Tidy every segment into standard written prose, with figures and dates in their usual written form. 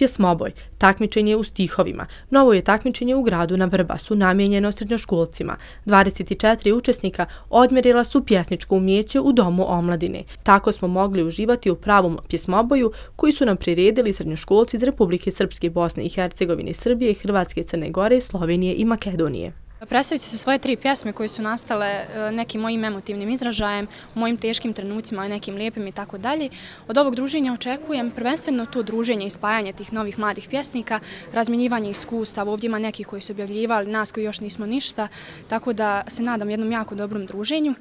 Pjesmoboj, takmičenje u stihovima. Novo je takmičenje u gradu na Vrbasu, namijenjeno srednjoškolcima. 24 učesnika odmjerila su pjesničko umjeće u Domu omladine. Tako smo mogli uživati u pravom pjesmoboju koji su nam priredili srednjoškolci iz Republike Srpske, Bosne i Hercegovine, Srbije, Hrvatske, Crne Gore, Slovenije i Makedonije. Predstavit ću svoje 3 pjesme koje su nastale nekim mojim emotivnim izražajem, u mojim teškim trenucima, nekim lijepim i tako dalje. Od ovog druženja očekujem prvenstveno to druženje i spajanje tih novih mladih pjesnika, razmjenjivanje iskustava. Ovdje ima nekih koji su objavljivali, nas koji još nismo ništa, tako da se nadam jednom jako dobrom druženju.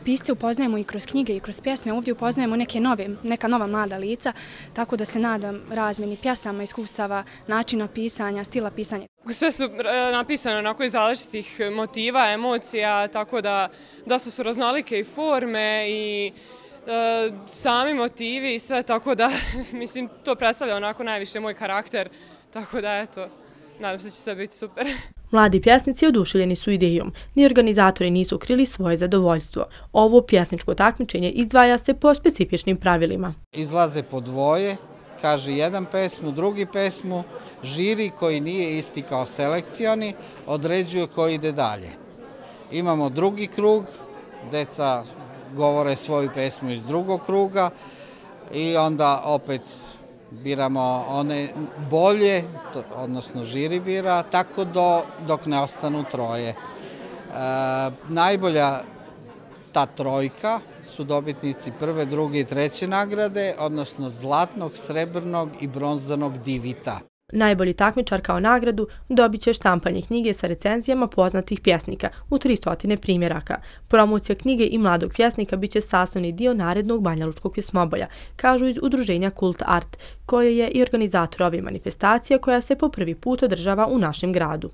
Pisce upoznajemo i kroz knjige i kroz pjesme, ovdje upoznajemo neka nova mlada lica, tako da se nadam razmjeni pjesama, iskustava, načina pisanja, stila pisanja. Sve su napisane onako iz različitih motiva, emocija, tako da dosta su raznolike i forme i sami motivi i sve, tako da mislim to predstavlja onako najviše moj karakter, tako da eto, nadam se da će sve biti super. Mladi pjesnici oduševljeni su idejom, ni organizatori nisu krili svoje zadovoljstvo. Ovo pjesničko takmičenje izdvaja se po specifičnim pravilima. Izlaze po dvoje, kaže jedan pesmu, drugi pesmu, žiri koji nije isti kao selekcioni određuje koji ide dalje. Imamo drugi krug, deca govore svoju pesmu iz drugog kruga i onda opet biramo one bolje, odnosno žiri bira, tako dok ne ostanu troje. Najbolja ta trojka su dobitnici prve, druge i treće nagrade, odnosno zlatnog, srebrnog i bronzanog divita. Najbolji takmičar kao nagradu dobit će štampanje knjige sa recenzijama poznatih pjesnika u 300 primjeraka. Promocija knjige i mladog pjesnika bit će sastavni dio narednog banjalučkog pjesmoboja, kažu iz udruženja Kult Art, koje je i organizator ove manifestacije koja se po prvi put održava u našem gradu.